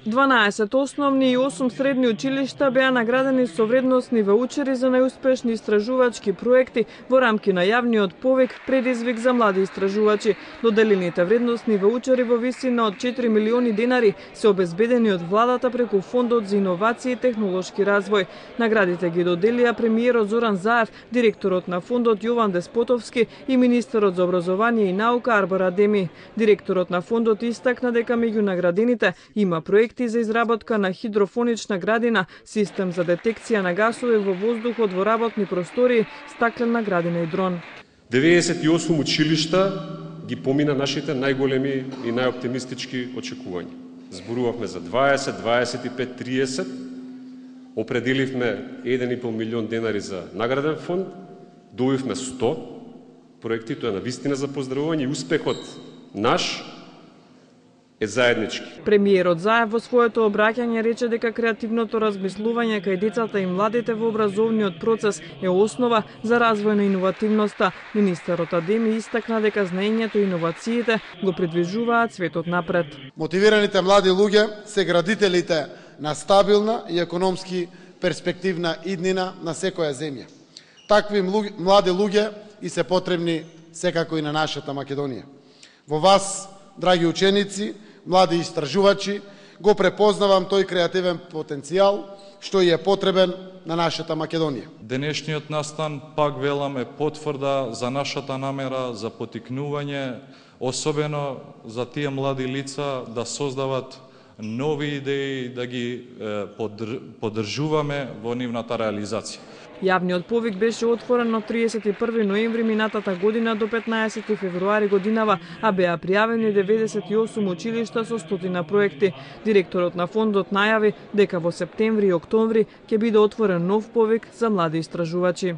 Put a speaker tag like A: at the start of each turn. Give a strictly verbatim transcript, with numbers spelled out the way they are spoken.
A: дванаесет основни и осум средни училишта беа наградени со вредносни ваучери за најуспешни истражувачки проекти во рамки на јавниот повик предизвик за млади истражувачи. Доделените вредносни ваучери во висина од четири милиони денари се обезбедени од владата преку Фондот за иновации и технолошки развој. Наградите ги доделија премиерот Зоран Заев, директорот на фондот Јован Деспотовски и министерот за образование и наука Арбар Адеми. Директорот на фондот истакна дека меѓу наградените има проекти за изработка на хидрофонична градина, систем за детекција на гасови во воздухот во работни простории, стаклена градина и дрон.
B: деветдесет и осум училишта ги помина нашите најголеми и најоптимистички очекувања. Зборувавме за дваесет, дваесет и пет, триесет, определивме еден и пол милион денари за награден фонд, добивме сто проекти, тоа е навистина за поздравување и успехот наш е заеднички.
A: Премиерот Заев во своето обраќање рече дека креативното размислување кај децата и младите во образовниот процес е основа за развој на иновативноста. Министерот Адеми истакна дека знаењето и иновациите го придвижуваат светот напред.
C: Мотивираните млади луѓе се градителите на стабилна и економски перспективна иднина на секоја земја. Такви млади луѓе и се потребни секако и на нашата Македонија. Во вас, драги ученици, млади истражувачи, го препознавам тој креативен потенцијал што и е потребен на нашата Македонија.
D: Денешниот настан, пак велам, е потврда за нашата намера за потикнување, особено за тие млади лица да создават нови идеи, да ги поддржуваме во нивната реализација.
A: Јавниот повик беше отворен од триесет и први ноември минатата година до петнаесети февруари годинава, а беа пријавени деветдесет и осум училишта со стотина проекти. Директорот на фондот најави дека во септември и октомври ќе биде отворен нов повик за млади истражувачи.